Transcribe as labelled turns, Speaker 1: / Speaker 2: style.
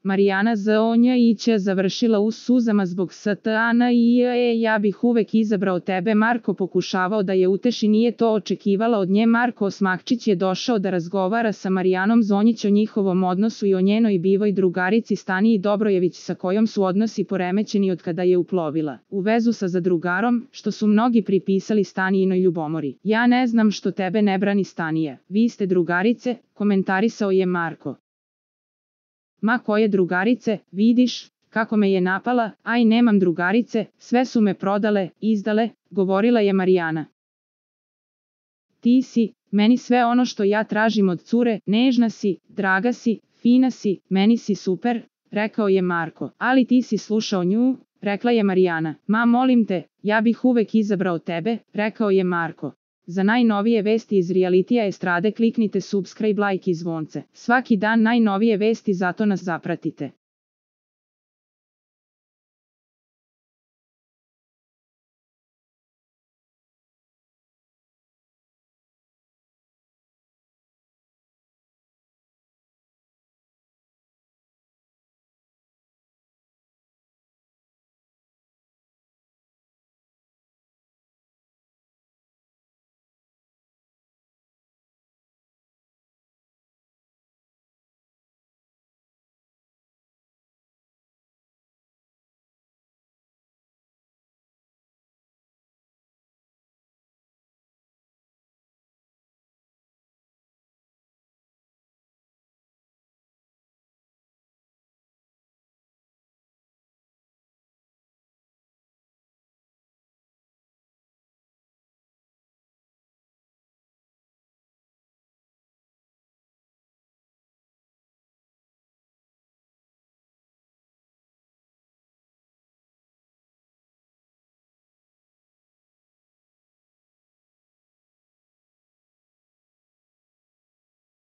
Speaker 1: Marijana Zonja-ić završila u suzama zbog Stana i ja bih uvek izabrao tebe. Marko pokušavao da je uteši, nije to očekivala od nje. Marko Osmahčić je došao da razgovara sa Marijanom Zonjić o njihovom odnosu i o njenoj bivoj drugarici Staniji Dobrojević, sa kojom su odnosi poremećeni od kada je uplovila u vezu sa zadrugarom, što su mnogi pripisali Stanijinoj ljubomori. Ja ne znam što tebe ne brani Stanija. Vi ste drugarice, komentarisao je Marko. Ma koje drugarice, vidiš kako me je napala, aj nemam drugarice, sve su me prodale, izdale, govorila je Marijana. Ti si meni sve ono što ja tražim od cure, nežna si, draga si, fina si, meni si super, rekao je Marko. Ali ti si slušao nju, rekla je Marijana. Ma molim te, ja bih uvek izabrao tebe, rekao je Marko. Za najnovije vesti iz realitija estrade kliknite subscribe, like i zvonce. Svaki dan najnovije vesti, zato nas zapratite.